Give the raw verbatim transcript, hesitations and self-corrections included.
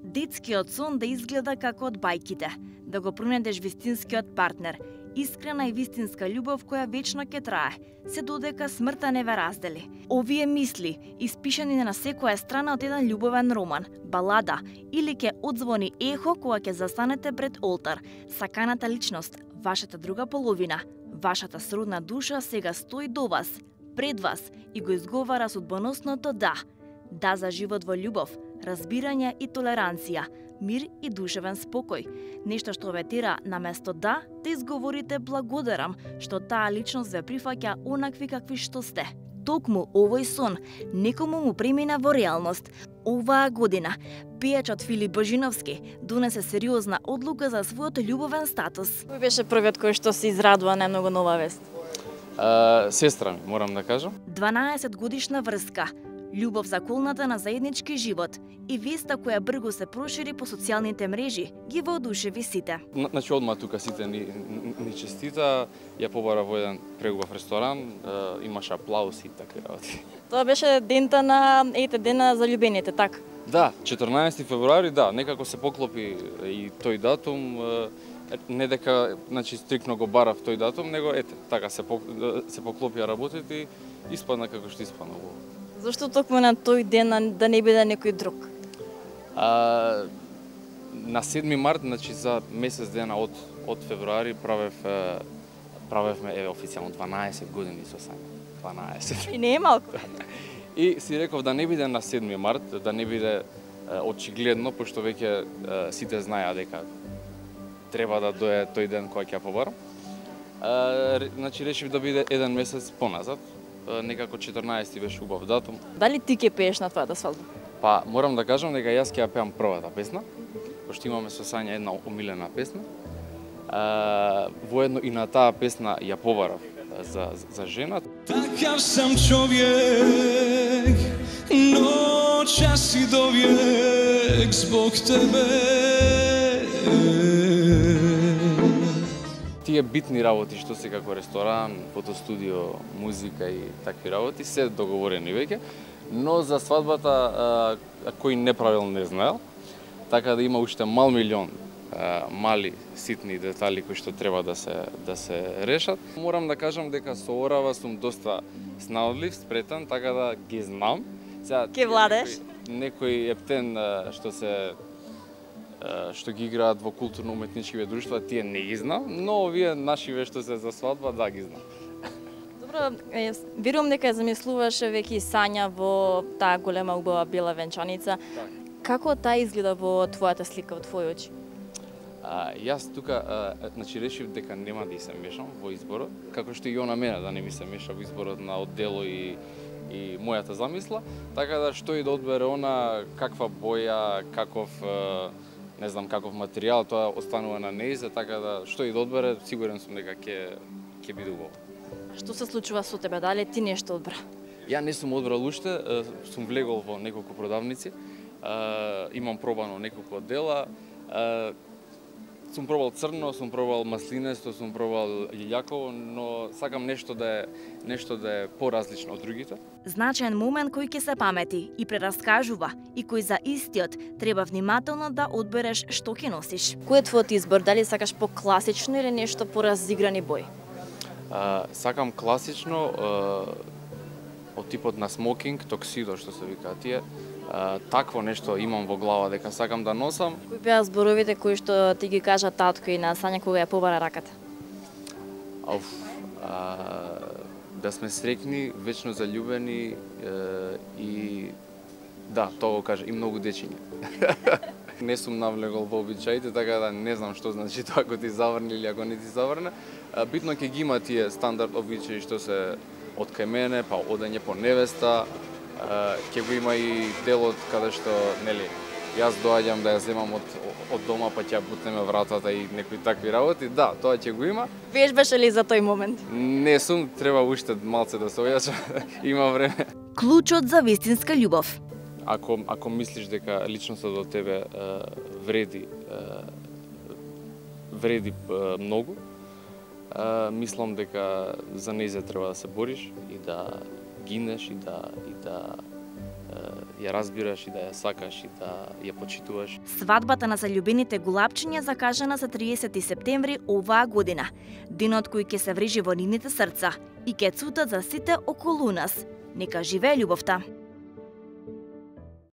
Детскиот сон да изгледа како од бајките, да го пронедеш вистинскиот партнер, искрена и вистинска љубов која вечно ќе трае, се додека смртта не ве раздели. Овие мисли, испишани на секоја страна од еден љубовен роман, балада или ќе одзвони ехо кога ќе застанете пред олтар, саканата личност, вашата друга половина, вашата сродна душа сега стои до вас, пред вас и го изговара судбоносното да. Да за живот во љубов, разбирање и толеранција, мир и душевен спокој. Нешто што ве тера наместо да, да изговорите благодарам што таа личност ве прифаќа онакви какви што сте. Токму овој сон некому му премина во реалност. Оваа година пејачот Филип Божиновски донесе сериозна одлука за својот љубовен статус. Кој беше првиот кој што се израдува најмногу на оваа вест? Uh, сестра ми, морам да кажам. дванаесет годишна врска, љубов заколната на заеднички живот и веста која брзо се прошири по социјалните мрежи ги воодушеви сите. Значи одма тука сите ни, ни честита, ја побара во еден прегубав ресторан, е, имаше аплаузи и такви работи. Тоа беше дента на ете дена за љубените, така? Да, четрнаесети февруари, да, некако се поклопи и тој датум, е, не дека значи стрикно го барав тој датум, него ете, така се се поклопија работите и испадна како што испадна во. Зошто токму на тој ден да не биде некој друг? А, на седми март, значи за месец дена од од февруари правев правевме еве официјално дванаесет години со Сања. дванаесет. И не е малку. И си реков да не биде на седми март, да не биде очигледно, пошто веќе сите знаеа дека треба да дое тој ден кога ќе ја побарам. А, значи решив да биде еден месец поназад. Некако четрнаесети беше убав датум. Дали ти ќе пееш на твојата свадба? Па, морам да кажам дека јас ќе ја пеам првата песна, пошто имаме со Сања една омилена песна. А, воедно и на таа песна ја побарав за, за жена. Такав сам човек, но часи до век због тебе. Тие битни работи што се како ресторан, фотостудио, музика и такви работи се договорени веќе, но за свадбата а, кој не правил не знаел, така да има уште мал милион а, мали ситни детали кои што треба да се да се решат. Морам да кажам дека со орава сум доста снаодлив, спретен, така да ги знам. Сега ке владеш некој, некој ептен а, што се што ги играат во културно-уметничкиве друштва, тие не ги знам, но овие нашиве што се за свадба, да ги знам. Добро, верувам дека замислуваше веќе и Сања во таа голема убава бела венчаница. Так. Како таа изгледа во твојата слика, во твои очи? А, јас тука, а, значи, решив дека нема да и се мешам во изборот, како што и она мене да не ми се меша во изборот на оддело и и мојата замисла, така да што и да одбере она, каква боја, каков не знам каков материјал, тоа останува на нејзе, така да што и да одбере, сигурен сум дека ќе ќе биде убаво. Што се случува со тебе? Дали ти нешто одбра? Ја не сум одбрал уште, сум влегол во неколку продавници, имам пробано неколку дела, сум пробал црно, сум пробал маслинесто, сум пробал лилјаково, но сакам нешто да е нешто да е поразлично од другите. Значаен момент кој ќе се памети и прераскажува и кој за истиот треба внимателно да одбереш што ќе носиш. Кој е твојот избор? Дали сакаш по-класично или нешто поразиграни бои? А, сакам класично, а, од типот на смокинг, токсидо што се вика тие. А, такво нешто имам во глава дека сакам да носам. Кои беа зборовите кои што ти ги кажа татко и на Сања кога ја побара раката? Ауф, а, да сме среќни, вечно заљубени е, и да, тоа го кажа, и многу дечиња. Не сум навлегол во обичаите, така да не знам што значи тоа ако ти заврне или ако не ти заврне. А, битно ќе ги има тие стандард обичаи што се од кај мене, па одење по невеста, ќе го има и делот каде што, нели, јас доаѓам да ја земам од, од дома, па ќе ја бутнеме вратата и некои такви работи. Да, тоа ќе го има. Вежбаше ли за тој момент? Не сум, треба уште малце да се ојачам, има време. Клучот за вистинска љубов. Ако, ако мислиш дека личноста до тебе е, вреди, е, вреди е, многу, е, мислам дека за нејзе треба да се бориш и да гинеш и да и да ја разбираш и да ја сакаш и да ја почитуваш. Свадбата на заљубените гулапчиња закажана за триесети септември оваа година, денот кој ќе се врежи во нивните срца и ќе цутат за сите околу нас. Нека живее љубовта!